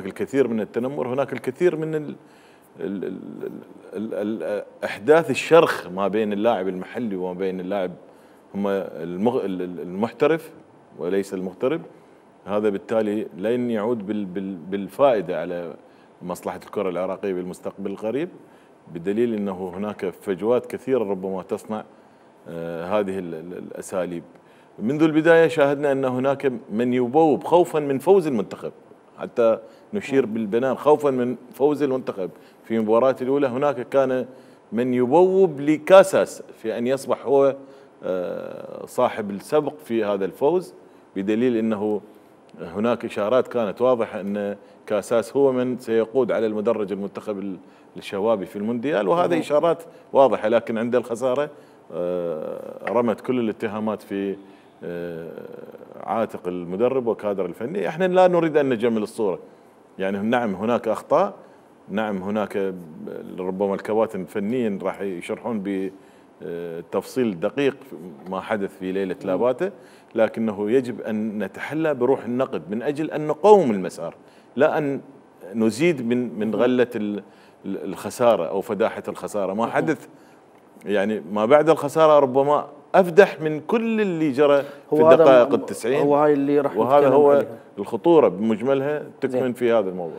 الكثير من التنمر، هناك الكثير من احداث الشرخ ما بين اللاعب المحلي وما بين اللاعب هم المحترف وليس المغترب. هذا بالتالي لن يعود بالفائده على مصلحه الكره العراقيه بالمستقبل القريب، بدليل انه هناك فجوات كثيره ربما تصنع هذه الاساليب. منذ البدايه شاهدنا ان هناك من يبوب خوفا من فوز المنتخب، حتى نشير بالبنان خوفا من فوز المنتخب في المباراه الاولى. هناك كان من يبوب لكاساس في ان يصبح هو صاحب السبق في هذا الفوز، بدليل انه هناك اشارات كانت واضحه ان كاساس هو من سيقود على المدرج المنتخب الشبابي في المونديال، وهذه اشارات واضحه. لكن عند الخساره رمت كل الاتهامات في عاتق المدرب وكادر الفني. احنا لا نريد ان نجمل الصوره، يعني نعم هناك اخطاء، نعم هناك ربما الكباتن فنيا راح يشرحون بتفصيل دقيق ما حدث في ليله لاباته، لكنه يجب ان نتحلى بروح النقد من اجل ان نقوم المسار، لا ان نزيد من غله الخساره او فداحه الخساره. ما حدث يعني ما بعد الخساره ربما افدح من كل اللي جرى في الدقائق ال90. هو هاي اللي راح وهذا هو الخطوره بمجملها تكمن في هذا الموضوع.